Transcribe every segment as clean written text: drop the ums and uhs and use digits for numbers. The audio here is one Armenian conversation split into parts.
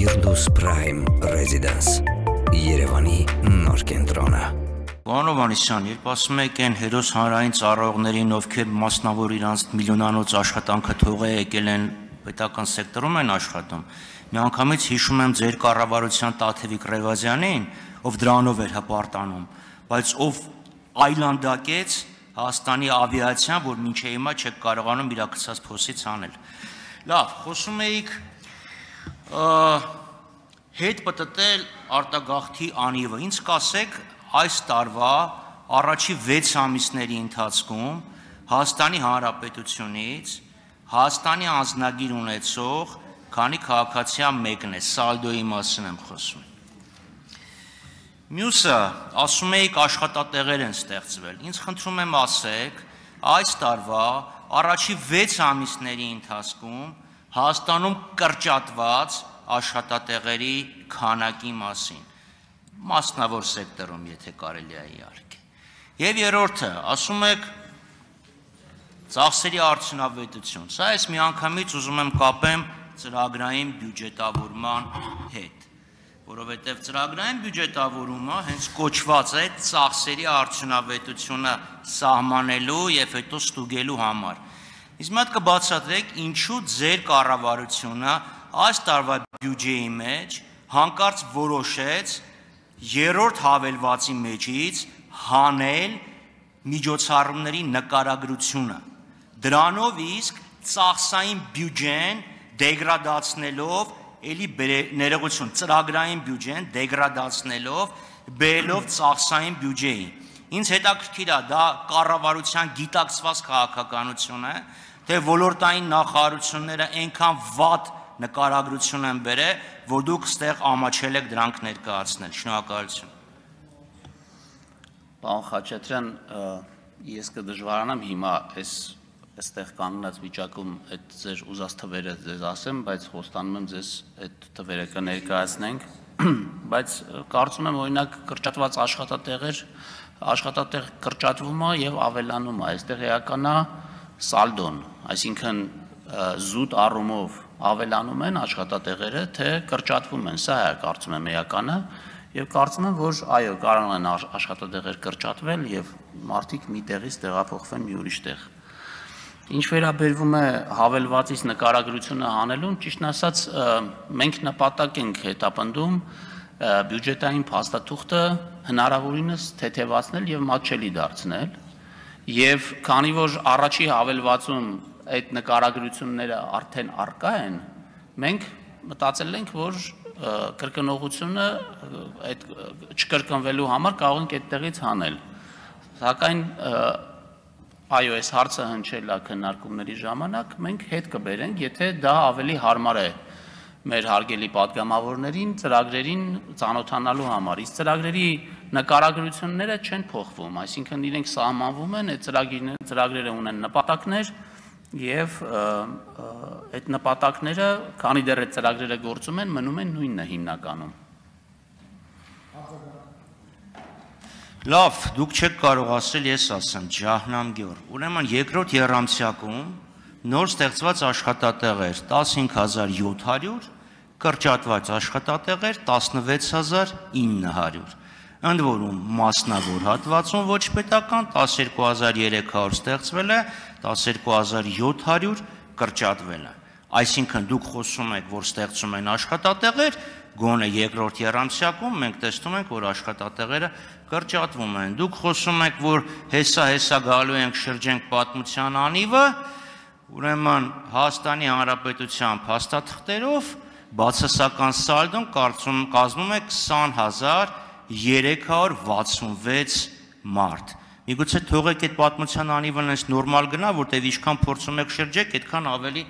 Firdaus Prime Residence Երևանի նոր կենտրոնը Պարոն Հովհաննիսյան, երբ ասում եք այն հերոս հանրային ծառայողներին, ովքեր մասնավոր իրանց միլիոնանոց աշխատանքը թողել եկել են պետական սեկտորում են աշխատում, միանգամից հիշում եմ ձեր կառավարության Տաթևիկ Ռևազյանին, ով դրանով էր հպարտանում, բայց ով այլանդակեց Հայաստանի ավիացիան, որ մինչև հիմա չեք կարողանում իր գցած փոսից անել։ Լավ, խոսում էիք հետ պատտել արտագաղթի անիվը։ Ինձ կասեք, այս տարվա առաջի 6 ամիսների ընթացքում Հայաստանի Հանրապետությունից Հայաստանի անձնագիր ունեցող քանի քաղաքացիա մեկն է, սալդոյի մասին եմ խոսում։ Մյուսը, ասում էիք աշխատատեղեր են ստեղծվել։ Ինձ խնդրում եմ ասեք, այս տարվա առաջի 6 ամիսների ընթացքում Հայաստանում կրճատված աշխատատեղերի քանակի մասին, մասնավոր սեկտորում, եթե կարելի է իհարկե։ Եվ երրորդը, ասում եք ծախսերի արդյունավետություն։ Սա ես միանգամից ուզում եմ կապեմ ծրագրային բյուջետավորման հետ, որովհետև ծրագրային բյուջետավորումը հենց կոչված է ծախսերի արդյունավետությունը սահմանելու եւ հետո ստուգելու համար։ Իսկ մի հատ կբացատրեք, ինչու ձեր կառավարությունը այս տարվա բյուջեի մեջ հանկարծ որոշեց երրորդ հավելվածի մեջից հանել միջոցառումների նկարագրությունը։ Դրանով իսկ ծախսային բյուջեն դեգրադացնելով էլի ներողություն, ծրագրային բյուջեն դեգրադացնելով, բերելով ծախսային բյուջեին։ Ինձ հետաքրքիր է, դա կառավարության գիտակցված քաղաքականություն է, թե ոլորտային նախարարությունները այնքան վատ նկարագրություն են բերել, որ դուք ստեղ ամաչել եք դրանք ներկայացնել։ Շնորհակալություն։ Պարոն Խաչատրյան, ես կդժվարանամ հիմա այստեղ կանգնած վիճակում այդ ձեր ուզած թվերը ձեզ ասեմ, բայց խոստանում եմ ձեզ այդ թվերը կներկայացնենք, բայց կարծում եմ օրինակ կրճատված աշխատատեղ կրճատվում է եւ ավելանում է, այստեղ էական է սալդոն, այսինքն զուտ առումով ավելանում են աշխատատեղերը, թե կրճատվում են, սա է կարծում եմ էականը, եւ կարծում եմ, որ այո, կարող են աշխատատեղեր կրճատվել եւ մարդիկ մի տեղից տեղափոխվեն մի ուրիշ տեղ։ Ինչ վերաբերվում է հավելվածից նկարագրությունը հանելուն, ճիշտն ասած, մենք նպատակ ենք հետապնդում բյուջետային փաստաթուղթը հնարավորինս թեթևացնել եւ մատչելի դարձնել, եւ քանի որ առաջի հավելվածում այդ նկարագրությունները արդեն առկա են, մենք մտածել ենք, որ կրկնողությունը այդ չկրկնվելու համար կարող ենք այդտեղից հանել։ Սակայն այո, այս հարցը հնչել է քննարկումների ժամանակ, մենք հետ կբերենք, եթե դա ավելի հարմար է մեր հարգելի պատգամավորներին, ծրագրերին ծանոթանալու համար։ Իսկ ծրագրերի նկարագրությունները չեն փոխվում, այսինքն իրենք սահմանվում են, այդ ծրագրերը ունեն նպատակներ եւ այդ նպատակները, քանի դեռ այդ ծրագրերը գործում են, մնում են նույնը հիմնականում։ Լավ, դուք չեք կարող ասել, ես ասեմ, Ջահնամ Գյոր։ Ուրեմն երկրորդ եռամսյակում նոր ստեղծված աշխատատեղեր 15700, կրճատված աշխատատեղեր 16900, ընդ որում մասնավոր հատվածում ոչ պետական 12300 ստեղծվել է, 12700 կրճատվել է։ Այսինքն դուք խոսում եք, որ ստեղծում են աշխատատեղեր, գոնե երկրորդ եռամսյակում մենք տեսնում ենք, որ աշխատատեղերը կրճատվում են։ Դուք խոսում եք, որ հեսա գալու ենք շրջենք պատմության անիվը, ուրեմն Հայաստանի Հանրապետության փաստաթղթերով բացասական սալդոն կազմում է 20366 մարդ։ Միգուցե թողեք այդ պատմության անիվն այս նորմալ գնա, որտեղ ինչքան փորձում եք շրջեք, այդքան ավելի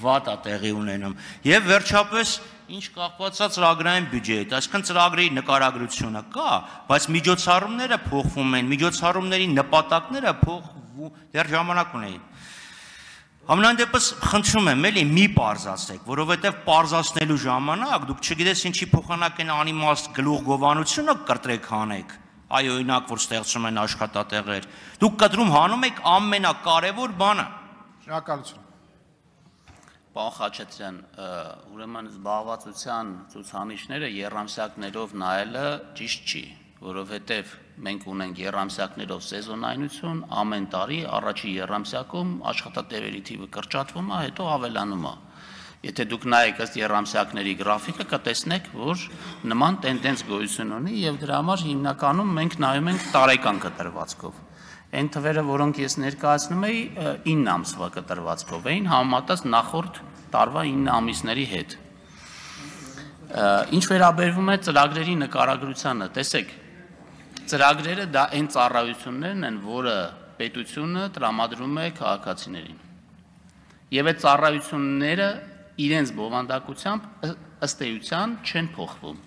վատ է տեղի ունենում։ Եվ վերջապես ինչ կապված է ծրագրային բյուջեի, այսինքն ծրագրի նկարագրությունը կա, բայց միջոցառումները փոխվում են, միջոցառումների նպատակները փոխվում, դեռ ժամանակ ունեին։ Ամենայն դեպս խնդրում եմ, էլի մի պարզացեք, որովհետև պարզացնելու ժամանակ դուք չգիտես ինչի փոխանակ են անիմաստ գլուխգովանությունը կտրեք հանեք, այ օրինակ որ ստեղծում են աշխատատեղեր, դուք կտրում հանում եք ամենակարևոր բանը։ Շնորհակալություն։ Պարոն Խաչատրյան, ուրեմն զբաղվածության ցուցանիշները երամսյակներով նայելը ճիշտ չի, որովհետև մենք ունենք երամսյակներով սեզոնայնություն, ամեն տարի առաջի երամսյակում աշխատատեղերի թիվը կրճատվում է, հետո ավելանում է։ Եթե դուք նայեք ըստ երամսյակների գրաֆիկը, կտեսնեք, որ նման տենդենս գոյություն ունի եւ դրա համար հիմնականում մենք նայում ենք տարեկան կտրվածքով։ Այն թվերը, որոնք ես ներկայացնում էի, 9 ամսվա կտրվածքով էին, համեմատած նախորդ տարվա 9 ամիսների հետ։ Ինչ վերաբերվում է ծրագրերի նկարագրությանը, տեսեք, ծրագրերը դա այն ծառայություններն են, որը պետությունը տրամադրում է քաղաքացիներին։ Եվ այդ ծառայությունները իրենց բովանդակությամբ ըստ էության չեն փոխվում։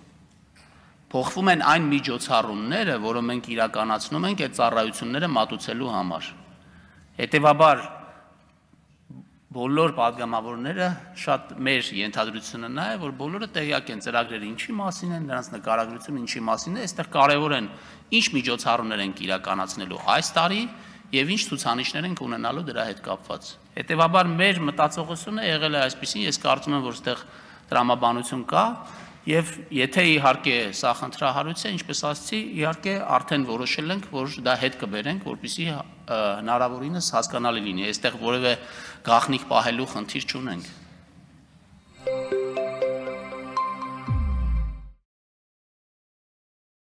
Փոխվում են այն միջոցառումները, որը մենք իրականացնում ենք այդ ծառայությունները մատուցելու համար։ Հետևաբար բոլոր падգամավորները շատ մեր ենթադրությունը նա է, որ բոլորը տեղյակ են ծրագրերը ինչի մասին են, նրանց նկարագրությունը ինչի մասին է, այստեղ կարևոր են ինչ միջոցառումներ ենք իրականացնելու այս տարի եւ ինչ ցուցանիշներ ենք ունենալու դրա հետ կապված։ Հետևաբար մեր մտածողությունը եղել է այսպեսին, ես կարծում եմ, որ այստեղ տրամաբանություն կա եւ եթե իհարկե սա խնդրահարույց է, ինչպես ասացի, իհարկե արդեն որոշել ենք, որ դա հետ կբերենք, որպեսզի հնարավորինս հասկանալի լինի, այստեղ որևէ գաղտնիք պահելու խնդիր չունենք։